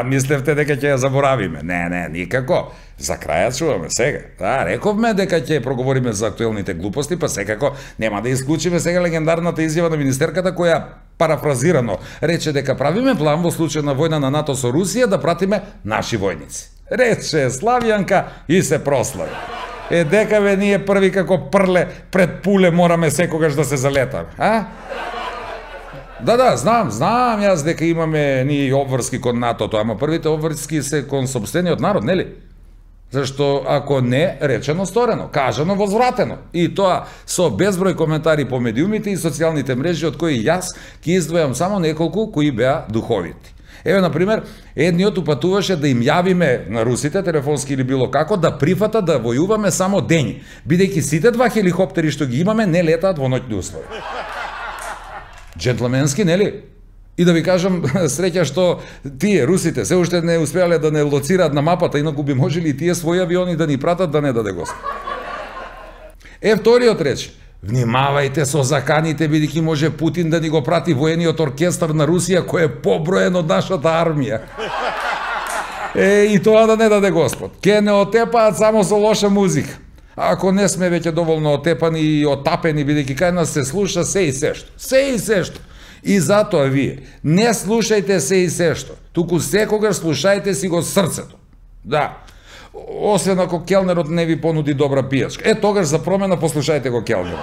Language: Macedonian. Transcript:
Мислевте дека ќе ја заборавиме. Не, никако. За крајот чуваме сега. Да, рековме дека ќе проговориме за актуелните глупости, па секако нема да исклучиме сега легендарната изјава на министерката која парафразирано рече дека правиме план во случај на војна на НАТО со Русија да пратиме наши војници. Рече Славјанка и се прослави. Дека бе ние први како прле пред пуле мораме секогаш да се залетаме, а? Да, знам јас дека имаме ние обврски кон НАТО-то, ама првите обврски се кон сопствениот народ, нели? Зашто ако не, речено сторено, кажано возвратено. И тоа со безброј коментари по медиумите и социјалните мрежи, од кои јас ќе издвојам само неколку кои беа духовити. Еве, например, едниот упатуваше да им јавиме на русите, телефонски или било како, да прифата да војуваме само дењи, бидејќи сите два хеликоптери што ги имаме не летаат во ноќни услови. Джентлменски, нели? И да ви кажам, среќа што тие, русите, се уште не успеале да не лоцираат на мапата, инаку би можели и тие своји авиони да ни пратат, да не даде Господ. Вториот рече, внимавајте со заканите, бидејќи може Путин да ни го прати воениот оркестар на Русија, кој е поброен од нашата армија. И тоа да не даде Господ. Ке не отепаат само со лоша музика. Ако не сме веќе доволно отепани и отапени, бидејќи кај нас се слуша се и сешто. Се и сешто. И затоа вие не слушајте се и сешто, туку секогаш слушајте си го срцето. Да. Освен ако келнерот не ви понуди добра пијачка. Тогаш за промена послушајте го келнерот.